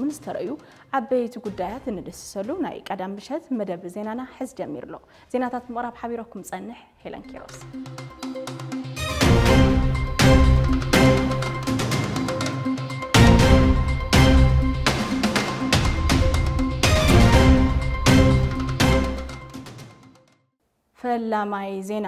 ምን ዝተረዩ ዓበይቲ ጉዳያት እንድስሰሉ ናይ ቀዳም ምሸት መደብ ዜናና ሕዚ ጀሚሩ ኣሎ። ዜናታት ምቕራብ ሓቢረኩም ጸንሕ ሄለን ኪሮስ። ፈላማይ ዜና።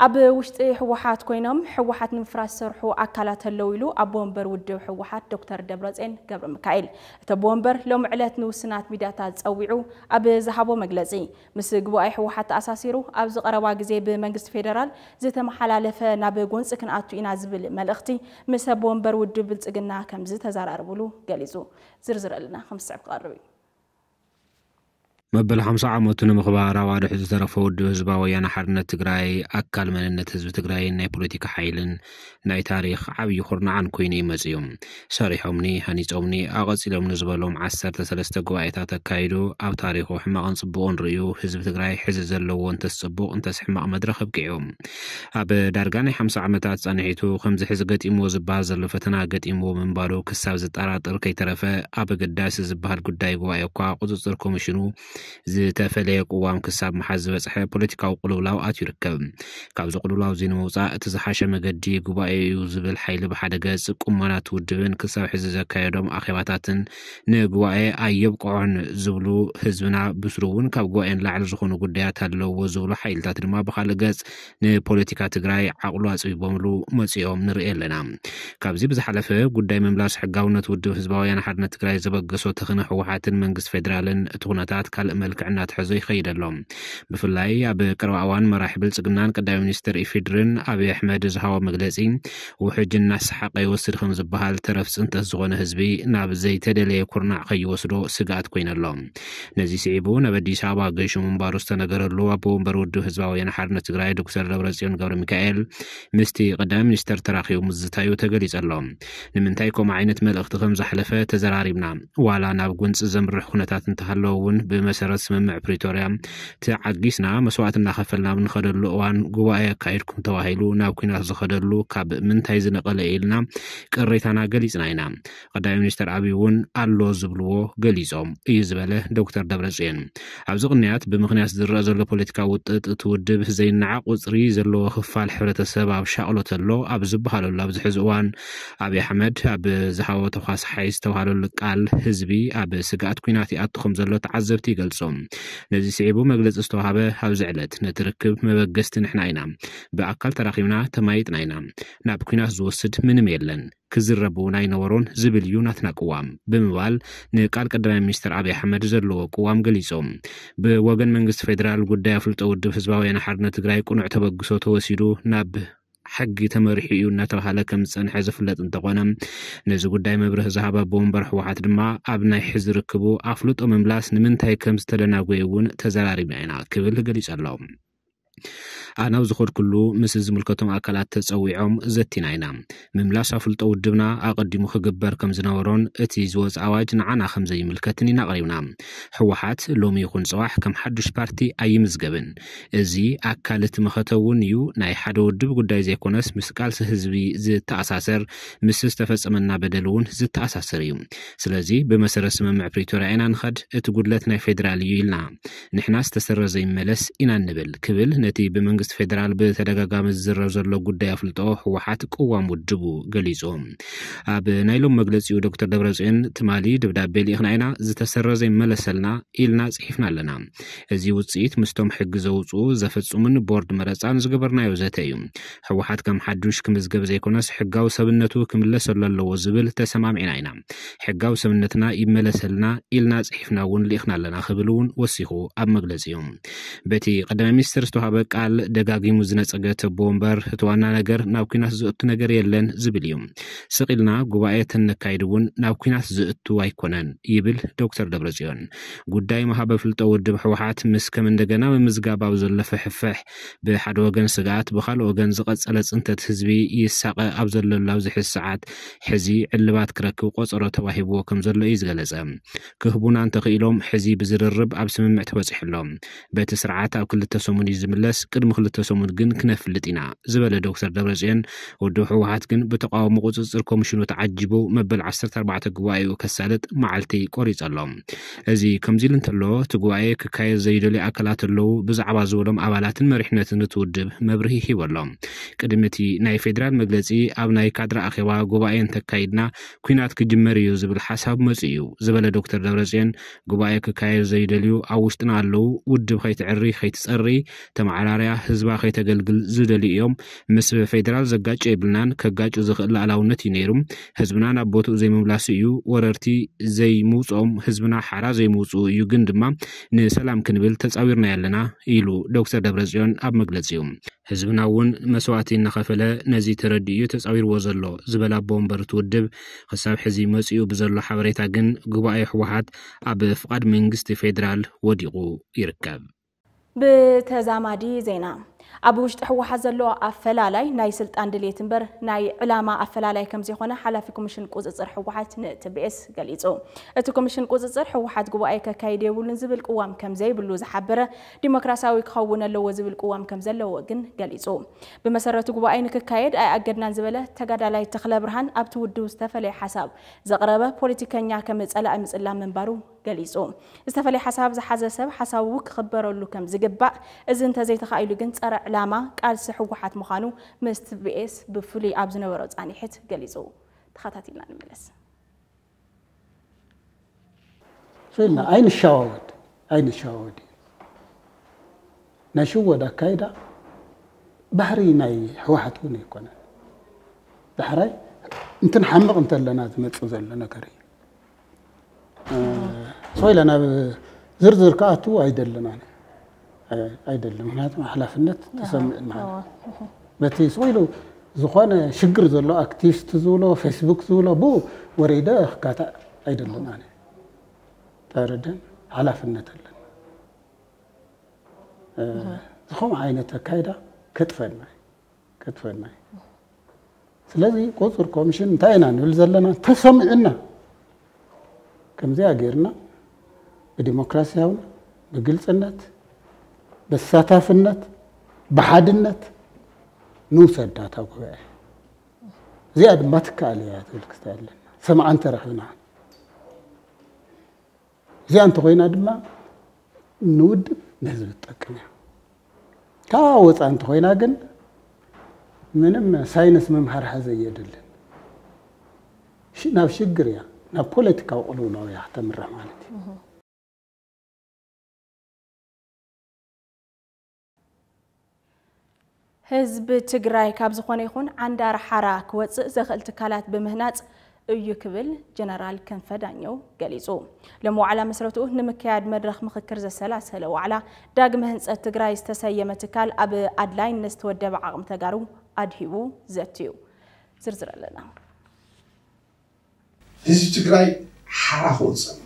ኣብ ውሽጢ ህወሓት ኮይኖም ህወሓት ንምፍራስ ዝሰርሑ ኣካላት ኣለዉ ኢሉ ኣቦ ወንበር ውድብ ህወሓት ዶክተር ደብረጽዮን ገብረ ሚካኤል። እቲ ኣቦ ወንበር ሎሚ ዕለት ንውስናት ሚድያታት ጸዊዑ ኣብ ዝሃቦ መግለጺ፣ ምስ ጉባኤ ህወሓት ተኣሳሲሩ ኣብዚ ቀረባ ግዜ ብመንግስቲ ፌደራል ዝተመሓላለፈ ናብ ጎንፂ ክንኣቱ ኢና ዝብል መልእኽቲ ምስ ኣቦ ወንበር ውድብ ብልጽግና ከም ዝተዘራረብሉ ገሊጹ። ዝርዝር ኣለና ከም ዝስዕብ ክቐርብ እዩ። መበል ሓምሳ ዓመቱ ንምኽባር ኣብ ኣድሑ ዝተረፈ ውድብ ህዝባዊ ወያነ ሓርነት ትግራይ ኣካል መንነት ህዝቢ ትግራይን ናይ ፖለቲካ ሓይልን ናይ ታሪኽ ዓብዪ ኩርናዓን ኮይኑ እዩ መፅዩ። ሰሪሖምኒ፣ ሃኒፆምኒ፣ ኣቐፂሎምኒ ዝበሎም ዓሰርተ ሰለስተ ጉባኤታት ኣካይዱ ኣብ ታሪኹ ሕማቕን ፅቡቕን ርእዩ ህዝቢ ትግራይ ሕዚ ዘለዎ እንተስ ፅቡቕ እንተስ ሕማቕ መድረኽ ኣብቂዑ። ኣብ ዳርጋ ናይ ሓምሳ ዓመታት ፃንሒቱ ከምዚ ሕዚ ገጢምዎ ዝበሃል ዘሎ ፈተና ገጢምዎ ምንባሩ ክሳብ ዝጠራጥር ከይተረፈ ኣብ ኣገዳሲ ዝበሃል ጉዳይ ጉባኤ እኳ ቁፅፅር ኮሚሽኑ ዝተፈለየ ቅዋም ክሳብ ምሓዝ ዝበፅሐ ፖለቲካዊ ቅልውላው ኣትዩ ይርከብ። ካብዚ ቅልውላው እዚ ንምውፃእ እቲ ዝሓሸ መገዲ ጉባኤ እዩ ዝብል ሓይሊ ብሓደ ገፅ ቁመናት ውድብን ክሳብ ሕዚ ዘካየዶም ኣኼባታትን ንጉባኤ ኣየብቅዖን ዝብሉ ህዝብና ብስሩ እውን ካብ ጉባኤ ንላዕሊ ዝኾኑ ጉዳያት ኣለውዎ ዝብሉ ሓይልታት ድማ ብኻልእ ገፅ ንፖለቲካ ትግራይ ዓቕሉ ኣፅቢቦምሉ መፂኦም ንርኢ ኣለና። ካብዚ ብዝሓለፈ ጉዳይ ምምላስ ሕጋውነት ውድብ ህዝባውያን ሓርነት ትግራይ ዘበገሶ ተኽነ ህወሓትን መንግስቲ ፌዴራልን እቲ ኩነታት ካልእ መልክዕ እናተሐዞ ይኸይድ ኣሎ። ብፍላይ ኣብ ቀረባ እዋን መራሒ ብልፅግናን ቀዳማይ ሚኒስትር ኢፌድርን ኣብይ ኣሕመድ ዝሃቦ መግለፂ ውሕጅ እናሰሓቐ ይወስድ ከም ዝበሃል ተረፍ ፅንተት ዝኾነ ህዝቢ ናብ ዘይተደለየ ኩርናዕ ከይወስዶ ስግኣት ኮይነ ኣሎ። ነዚ ስዒቡ ናብ ኣዲስ ኣበባ ገይሹ ምንባሩ ዝተነገረሉ ኣቦ ወንበር ውድብ ህዝባዊ ወያነ ሓርነት ትግራይ ዶክተር ደብረፅዮን ገብረ ሚካኤል ምስቲ ቀዳማይ ሚኒስተር ተራኺቡ ምዝታዩ ተገሊጹ ኣሎ። ንምንታይ ከምኡ ዓይነት መልእኽቲ ከም ዘሕለፈ ተዘራሪብና። ዋላ ናብ ጎንፂ ዘምርሕ ኩነታት እንተሃለወ እውን ብመሰረት ስምምዕ ፕሪቶርያ ተዓጊስና መስዋእቲ እናኸፈልና ኣብ ንኸደሉ እዋን ጉባኤ ኣካይድኩም ተባሂሉ ናብ ኲናት ዝኸደሉ ካብ ምንታይ ዝነቐለ ኢልና ቅሬታና ገሊፅና ኢና። ቀዳማይ ሚኒስተር ኣብይ እውን ኣሎ ዝብልዎ ገሊፆም እዩ ዝበለ ዶክተር ደብረፅዮን፣ ኣብዚ ቅንያት ብምኽንያት ዝረኣ ዘሎ ፖለቲካዊ ውጥጥ እቲ ውድብ ዘይነዓቕ ቁፅሪ ዘለዎ ክፋል ሕብረተሰብ ኣብ ሻቕሎት ኣሎ ኣብ ዝበሃለሉ ኣብዚ ሕዚ እዋን ኣብይ ኣሕመድ ኣብ ዝሃቦ ተኳስሓይ ዝተባሃለሉ ቃል ህዝቢ ኣብ ስግኣት ኲናት ይኣቱ ከም ዘሎ ተዓዘብቲ ይገልፁ። ነዚ ስዒቡ መግለፂ ዝተዋሃበ ኣብዚ ዕለት ነቲ ርክብ መበገስቲ ንሕና ኢና፣ ብኣካል ተራኺብና ተማይጥና ኢና፣ ናብ ኲናት ዝወስድ ምንም የለን፣ ክዝረብ እውን ኣይነበሮን ዝብል እዩ ናትና ቅዋም ብምባል ንቃል ቀዳማይ ሚኒስትር ኣብይ ኣሕመድ ዘለዎ ቅዋም ገሊጾም። ብወገን መንግስቲ ፌዴራል ጉዳይ ኣፍልጦ ውድብ ህዝባዊ ወያነ ሓርነት ትግራይ ቅኑዕ ተበግሶ ተወሲዱ ናብ ሕጊ ተመሪሑ እዩ እናተባሃለ ከም ዝጸንሐ ዝፍለጥ እንተኾነ፣ ነዚ ጉዳይ መብርህ ዝሃበ ኣቦ ወንበር ህወሓት ድማ ኣብ ናይ ሕዚ ርክቡ ኣፍልጦ ምምላስ ንምንታይ ከም ዝተደናጎየ እውን ተዘራሪብና ኢና ክብል ገሊጹ ኣሎ። ኣነ ኣብ ዝኸድኩሉ ምስ ዝምልከቶም ኣካላት ተጸዊዖም ዘቲና ኢና። ምምላስ ኣፍልጦ ውድብና ኣቐዲሙ ክግበር ከም ዝነበሮን እቲ ዝወጽእ ኣዋጅ ንዓና ከም ዘይምልከትን ኢና ኣቕሪብና። ህወሓት ሎሚ ይኹን ጽባሕ ከም ሓዱሽ ፓርቲ ኣይምዝገብን። እዚ ኣካል እቲ መኸተ እውን እዩ። ናይ ሓደ ውድብ ጉዳይ ዘይኮነስ ምስ ቃልሲ ህዝቢ ዝተኣሳሰር፣ ምስ ዝተፈጸመና በደል እውን ዝተኣሳሰር እዩ። ስለዚ ብመሰረት ስምምዕ ፕሪቶርያ ኢና ንኸድ፣ እቲ ጉድለት ናይ ፌዴራል እዩ ኢልና። ንሕና ዝተሰረዘ ይመለስ ኢና እንብል ክብል ነቲ ብመንግስቲ ፌዴራል ብተደጋጋሚ ዝዝረብ ዘሎ ጉዳይ ኣፍልጦ ህወሓት ቅዋም ውድቡ ገሊጹ። ኣብ ናይ ሎም መግለጺኡ ዶክተር ደብረጽዮን ትማሊ ደብዳቤ ልኢኽና ኢና፣ ዝተሰረዘ ይመለሰልና ኢልና ጽሒፍና ኣለና። እዚ ውጽኢት ምስቶም ሕጊ ዘውጽኡ ዘፈጽሙን ቦርድ መረጻን ዝገበርናዮ ዘተ እዩ። ህወሓት ከም ሓዱሽ ክምዝገብ ዘይኮነስ ሕጋዊ ሰብነቱ ክምለሰሉ ኣለዎ ዝብል ተሰማሚዕና ኢና። ሕጋዊ ሰብነትና ይመለሰልና ኢልና ጽሒፍና እውን ልኢኽና ኣለና ክብል እውን ወሲኹ ኣብ መግለጺኡ። በቲ ቀዳማይ ሚኒስትር ዝተዋሃበ ቃል ደጋጊሙ ዝነጸገ ተቦ ወንበር እቲ ዋና ነገር ናብ ኲናት ዘእቱ ነገር የለን ዝብል እዩ። ስቕ ኢልና ጉባኤ ተነካይድ እውን ናብ ኲናት ዘእቱ ኣይኮነን ይብል ዶክተር ደብረጽዮን። ጉዳይ መሃበ ፍልጦ ውድብ ህወሓት ምስ ከም እንደገና ምምዝጋብ ኣብ ዘሎ ፍሕፍሕ ብሓደ ወገን ስግኣት ብኻልእ ወገን ዝቐጸለ ጽንተት ህዝቢ ይሳቐ ኣብ ዘለሉ ኣብዚ ሕዚ ሰዓት ሕዚ ዕልባት ክረክብ ቆጸሮ ተዋሂብዎ ከም ዘሎ እዩ ዝገለጸ። ክህቡና እንተኽኢሎም ሕዚ ብዝርርብ ኣብ ስምምዕ ተበጺሑ ኣሎ። በቲ ስርዓት ኣብ ክልተ ሰሙን እዩ ዝምለስ። ቅድሚ ክልተ ሰሙን ግን ክነፍልጥ ኢና ዝበለ ዶክተር ደብረጽዮን፣ ውድብ ህወሓት ግን ብተቃውሞ ቁጽጽር ኮሚሽኑ ተዓጂቡ መበል ዓሰርተ ኣርባዕተ ጉባኤኡ ከሳልጥ መዓልቲ ቆሪጹ ኣሎ። እዚ ከምዚ ኢሉ እንተሎ፣ እቲ ጉባኤ ክካየድ ዘይደልዩ ኣካላት ኣለዉ፣ ብዛዕባ ዝበሎም ኣባላትን መሪሕነትን እቲ ውድብ መብርሂ ሂቡ ኣሎ። ቅድሚ እቲ ናይ ፌዴራል መግለጺ፣ ኣብ ናይ ካድረ ኣኼባ ጉባኤ እንተካይድና፣ ኲናት ክጅመር እዩ ዝብል ሓሳብ መጺኡ እዩ ዝበለ ዶክተር ደብረጽዮን፣ ጉባኤ ክካየድ ዘይደልዩ ኣብ ውሽጥና ኣለዉ፣ ውድብ ከይትዕሪ ከይትጸሪ፣ ተመዓራርያ ህዝባ ከይተገልግል ዝደልዩ እዮም። ምስ ፌዴራል ዘጋጭ የብልናን፣ ከጋጩ ዝኽእል ላዕላውነት እዩ ነይሩ። ህዝብና ናብ ቦትኡ ዘይምምላሱ እዩ፣ ወረርቲ ዘይምውፅኦም፣ ህዝብና ሓራ ዘይምውፅኡ እዩ፣ ግን ድማ ንሰላም ክንብል ተፃዊርና ያለና ኢሉ ዶክተር ደብረጽዮን ኣብ መግለጺኡ። ህዝብና እውን መስዋእቲ እናኸፈለ ነዚ ተረዲኡ እዩ ተፃዊርዎ ዘሎ ዝበለ ኣቦ ወንበር እቲ ውድብ፣ ክሳብ ሕዚ መፂኡ ብዘሎ ሓበሬታ ግን ጉባኤ ህወሓት ኣብ ፍቓድ መንግስቲ ፌዴራል ወዲቑ ይርከብ። ብተዛማዲ ዜና፣ ኣብ ውሽጢ ህወሓት ዘሎ ኣፈላላይ ናይ ስልጣን ድሌት እምበር ናይ ዕላማ ኣፈላላይ ከም ዘይኮነ ሓላፊ ኮሚሽን ቁፅፅር ህወሓት ንቲቢኤስ ገሊፁ። እቲ ኮሚሽን ቁፅፅር ህወሓት ጉባኤ ከካይድ የብሉን ዝብል ቅዋም ከም ዘይብሉ ዝሓበረ፣ ዲሞክራሲያዊ ክኸውን ኣለዎ ዝብል ቅዋም ከም ዘለዎ ግን ገሊፁ። ብመሰረቱ ጉባኤ ንክካየድ ኣይኣገድናን ዝበለ ተጋዳላይ ተኽለ ብርሃን፣ ኣብቲ ውድብ ዝተፈለየ ሓሳብ ዘቕረበ ፖለቲከኛ ከም ፀላኢ ምፅላም ምንባሩ ገሊፁ። ዝተፈለየ ሓሳብ ዝሓዘ ሰብ ሓሳቡ ክኽበረሉ ከም ዝግባእ፣ እዚ እንተዘይተኻኢሉ ግን ፀረ ዕላማ ቃልሲ ህወሓት ምዃኑ ምስ ቲቢኤስ ብፍሉይ ኣብ ዝነበሮ ፃኒሕት ገሊፁ። ተኸታቲልና ንመለስ። ሶ ኢልና ኣይንሻዋወድ ኣይንሻዋወድ እዩ። ናይ ሽወድ ኣካይዳ ባህሪ ናይ ህወሓት እውን ኣይኮነን። ዳሕራይ እንትን ሓምቕ እንተለና ዝመፅእ ዘሎ ነገር እዩ። ሶ ኢለ ናብ ዝርዝር ክኣትው ኣይደልን ኣነ። ኣይደልን፣ ምክንያቱ ሓላፍነት ተሰምዕን ማለት እዩ። በቲ ስቕ ኢሉ ዝኾነ ሽግር ዘሎ ኣክቲቪስት ዝብሎ ፌስቡክ ዝብሎ ብኡ ወሪደ ክካታዕ ኣይደልን ኣነ። ተረድን ሓላፍነት ኣለና። ዝኸምኡ ዓይነት ኣካይዳ ከጥፈና እዩ። ከጥፈና እዩ። ስለዚ ቁፅፅር ኮሚሽን እንታይ ኢና ንብል ዘለና? ተሰሚዑና ከምዚኣ ጌርና ብዲሞክራሲያውን ብግልፅነት ብተሳታፍነት ብሓድነት ንውሰዳ እታ ጉባኤ። እዚኣ ድማ ትከኣል እያ ትብል ክስታይ ኣለና። ሰምዓ እንተረኺብና እዚኣ እንተኾይና ድማ ንውድብ ንህዝቢ ትጠቅም እያ። ካብ ወፃ እንተኾይና ግን ምንም ሳይንስ ምምሃር ሓዘ የድልን። ናብ ሽግር እያ፣ ናብ ፖለቲካዊ ቅልውላው እያ ክተምርሕ ማለት እዩ። ህዝቢ ትግራይ ካብ ዝኾነ ይኹን ዓንዳር ሓራ ክወፅእ ዘኽእል ትካላት ብምህናፅ እዩ ክብል ጀነራል ክንፈ ዳኘው ገሊፁ። ሎሚ ዋዕላ መስረትኡ ንምክያድ መድረኽ ምኽክር ዘሰላሰለ ዋዕላ ዳግመ ህንፀት ትግራይ ዝተሰየመ ትካል ኣብ ኣድላይነት ዝተወደበ ዓቕሚ ተጋሩ ኣድሂቡ ዘትዩ። ዝርዝር ኣለና። ህዝቢ ትግራይ ሓራ ክወፅእ ኣለዎ።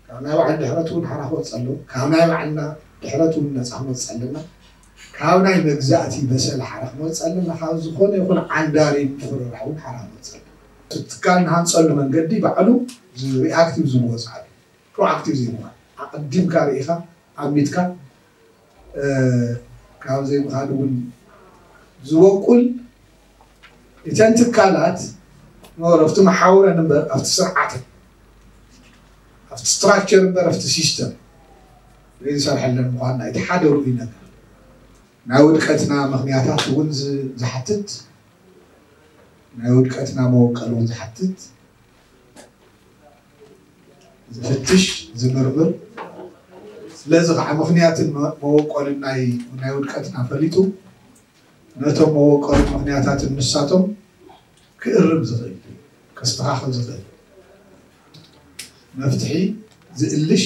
ካብ ናይ ባዕሉ ድሕረት እውን ሓራ ክወፅእ ኣለዎ። ካብ ናይ ባዕልና ድሕረት እውን ነፃ ክንወፅእ ኣለና። ካብ ናይ መግዛእቲ በሰል ሓራ ክንወፅእ ኣለና። ካብ ዝኾነ ይኹን ዓንዳሪ ምፍርራሕ እውን ሓራ ክንወፅእ ኣለና። እቲ ትካል ንሃንፀሉ መንገዲ ባዕሉ ሪኣክቲቭ ዝወፅእ ኣሎ። ፕሮኣክቲቭ ዘይምዃን፣ ኣቐዲምካ ርኢኻ ኣሚትካ ካብ ዘይምኻድ እውን ዝበቁል እተን ትካላት ኖር ኣብቲ መሓውረን እምበር ኣብቲ ስርዓተን ኣብቲ ስትራክቸር እምበር ኣብቲ ሲስተም ዘይንሰርሐለን ምዃንና እቲ ሓደ ርኡይ ነገር። ናይ ውድቀትና ምኽንያታት እውን ዝሓትት ናይ ውድቀትና መወቀል እውን ዝሓትት ዝፍትሽ ዝምርምር ስለዚ ከዓ ምኽንያትን መወቀልን ናይ ናይ ውድቀትና ፈሊጡ ነቶም መወቀሉ ምኽንያታትን ንሳቶም ክእርም ዝኽእል ከስተኻኽል ዝኽእል መፍትሒ ዝእልሽ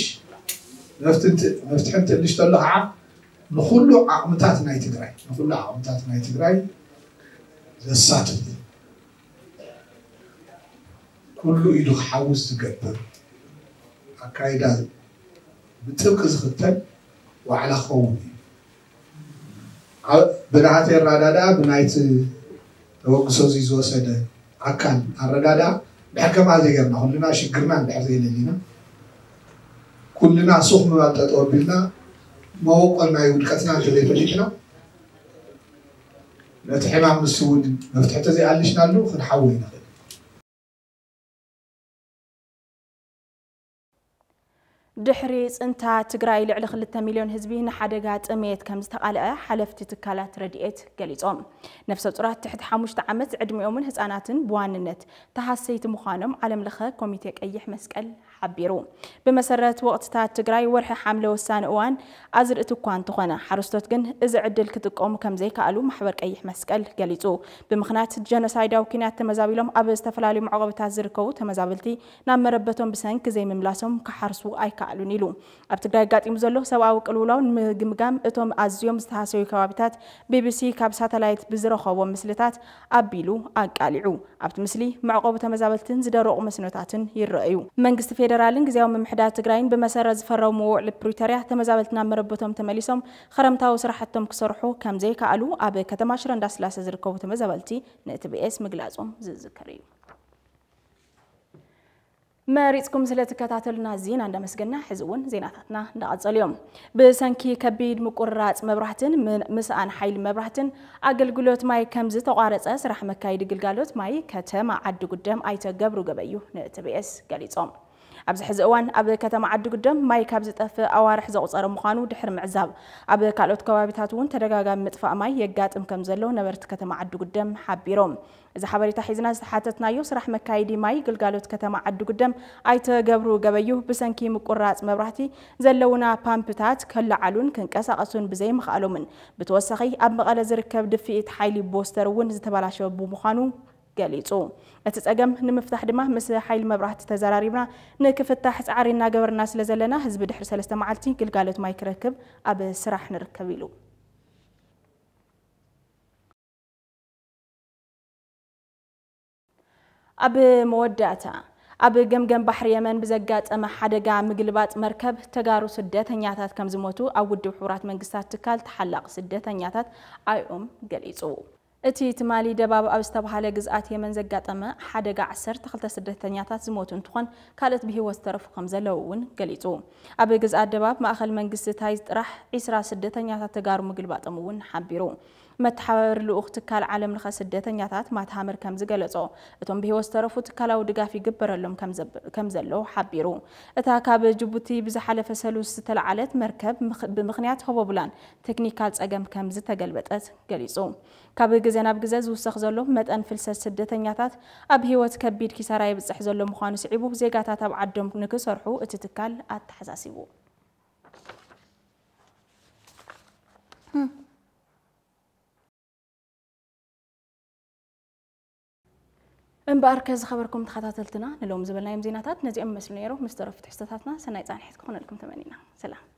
መፍትሒ እንትእልሽ ተሎ ከዓ ንኹሉ ዓቕምታት ናይ ትግራይ ንኹሉ ዓቕምታት ናይ ትግራይ ዘሳትፍ ኩሉ ኢዱ ክሓውስ ዝገብር ኣካይዳ ብጥብቂ ዝኽተል ዋዕላ ክኸውን እዩ። ብናሃተይ ኣረዳድኣ ብናይቲ ተበግሶ እዚ ዝወሰደ ኣካል ኣረዳድኣ ድሕር ከምኣ ዘይገርና ኩልና ሽግርና እንድሕር ዘይለሊና ኩልና ሱቕ ምባል ጠጠው ኣቢልና መበቆል ናይ ውድቀትና እንተዘይፈሊጥና፣ ነቲ ሕማም ንሱ እውን መፍትሒ ተዘይኣልሽናሉ ክንሓዊ ኣይንኽእል። ድሕሪ ጽንታ ትግራይ፣ ልዕሊ ክልተ ሚልዮን ህዝቢ ንሓደጋ ጥሜት ከም ዝተቓልዐ ሓለፍቲ ትካላት ረድኤት ገሊጾም። ነፍሰ ጡራት ትሕቲ ሓሙሽተ ዓመት ዕድሚኦምን ህጻናትን ብዋንነት ተሃሰይቲ ምዃኖም ዓለም ለኸ ኮሚቴ ቀይሕ መስቀል ሓቢሩ። ብመሰረት ወቕትታት ትግራይ፣ ወርሒ ሓምለ ወሳኒ እዋን ኣዝርእቲ እኳ እንተኾነ፣ ሓረስቶት ግን እዚ ዕድል ክጥቀሙ ከም ዘይከኣሉ ማሕበር ቀይሕ መስቀል ገሊጹ። ብምኽንያት ጀኖሳይዳዊ ኲናት ተመዛቢሎም ኣብ ዝተፈላለዩ መዕቆብታት ዝርከቡ ተመዛበልቲ ናብ መረበቶም ብሰንኪ ዘይምምላሶም ክሓርሱ ኣይከኣሉን ኢሉ። ኣብ ትግራይ ኣጋጢሙ ዘሎ ሰብኣዊ ቅልውላው ንምግምጋም እቶም ኣዝዮም ዝተሃሰዩ ከባቢታት ቢቢሲ ካብ ሳተላይት ብዝረኸቦ ምስልታት ኣቢሉ ኣቃሊዑ። ኣብቲ ምስሊ መዕቆቢ ተመዛበልትን ዝደረቑ መስኖታትን ይረኣዩ። መንግስቲ ፌደራልን ግዝያዊ ምምሕዳር ትግራይን ብመሰረት ዝፈረምዎ ውዕል ፕሪቶርያ ተመዛበልቲ ናብ መረበቶም ተመሊሶም ኸረምታዊ ስራሕቶም ክሰርሑ ከም ዘይከኣሉ ኣብ ከተማ ሽረ እንዳስላሰ ዝርከቡ ተመዛበልቲ ንቲቢኤስ ምግላጾም ዝዝከር እዩ። መሪጽኩም ስለ ትከታተሉና ዜና እንዳመስገና፣ ሕዚ እውን ዜናታትና እንዳቐጸሉ እዮም። ብሰንኪ ከቢድ ምቁርራጽ መብራህትን ምን-፣ ምስኣን ሓይሊ መብራህትን ኣገልግሎት ማይ ከም ዝተቋረጸ ስራሕ መካይዲ ግልጋሎት ማይ ከተማ ዓዲ ጉደም ኣይተ ገብሩ ገበዩ ንቲቢኤስ ገሊጾም። ኣብዚ ሕዚ እዋን ኣብ ከተማ ዓዲ ጉደም ማይ ካብ ዝጠፍእ ኣዋርሕ ዘቑጸረ ምዃኑ ድሕሪ ምዕዛብ፣ ኣብ ካልኦት ከባቢታት እውን ተደጋጋሚ ምጥፋእ ማይ የጋጥም ከም ዘሎ ነበርቲ ከተማ ዓዲ ጉደም ሓቢሮም። እዚ ሓበሬታ ሒዝና ዝተሓተትናዮ ስራሕ መካይዲ ማይ ግልጋሎት ከተማ ዓዲ ጉደም ኣይተ ገብሩ ገበዩ፣ ብሰንኪ ምቁራጽ መብራህቲ ዘለውና ፓምፕታት ከለዓሉን ክንቀሳቐሱን ብዘይምኽኣሎምን ብተወሳኺ ኣብ መቐለ ዝርከብ ድፍኢት ሓይሊ ቦስተር እውን ዝተበላሸወ ብምዃኑ ገሊጹ። እቲ ጸገም ንምፍታሕ ድማ ምስ ሓይሊ መብራህቲ ተዘራሪብና ንክፍታሕ ጻዕሪ እናገበርና ስለ ዘለና፣ ህዝቢ ድሕሪ ሰለስተ መዓልቲ ግልጋሎት ማይ ክረክብ ኣብ ስራሕ ንርከብ ኢሉ። ኣብ መወዳእታ፣ ኣብ ገምገም ባሕሪ የመን ብዘጋጠመ ሓደጋ ምግልባጥ መርከብ ተጋሩ ስደተኛታት ከም ዝሞቱ ኣብ ውድብ ሕቡራት መንግስታት ትካል ተሓላቒ ስደተኛታት ኣይኦም ገሊጹ። እቲ ትማሊ ደባብ ኣብ ዝተባህለ ግዝኣት የመን ዘጋጠመ ሓደጋ ዓሰርተ ክልተ ስደተኛታት ዝሞቱ እንትኾን፣ ካልኦት ብህይወት ዝተረፉ ከም ዘለዉ እውን ገሊጹ። ኣብ ግዝኣት ደባብ ማእኸል መንግስቲ ታይዝ ጥራሕ ዒስራ ስደተኛታት ተጋሩ ምግልባጦም እውን ሓቢሩ። መተሓባበሪ ልኡኽ ትካል ዓለም ለኸ ስደተኛታት ማት ሃመር ከም ዝገለጾ፣ እቶም ብህይወት ዝተረፉ ትካላዊ ድጋፍ ይግበረሎም ከም ዘብ-፣ ከም ዘሎ ሓቢሩ። እታ ካብ ጅቡቲ ብዝሓለፈ ሰሉስ ዝተለዓለት መርከብ ምኽ-፣ ብምኽንያት ሆቦብላን ቴክኒካል ጸገም ከም ዝተገልበጠት ገሊጹ። ካብ ግዜ ናብ ግዜ ዝውሰኽ ዘሎ መጠን ፍልሰት ስደተኛታት ኣብ ህይወት ከቢድ ኪሳራ የብጽሕ ዘሎ ምዃኑ ስዒቡ፣ ዜጋታት ኣብ ዓዶም ንክሰርሑ እቲ ትካል ኣተሓሳሲቡ። እምበኣርከ ዝኸበርኩም ተኸታተልትና፣ ንሎም ዝበልናዮም ዜናታት ነዚኦም ይመስሉ ነይሩ። ምስ ተረፉ ትሕዝቶታትና ሰናይ ጻንሒት ክኾነልኩም ተመኒና። ሰላም።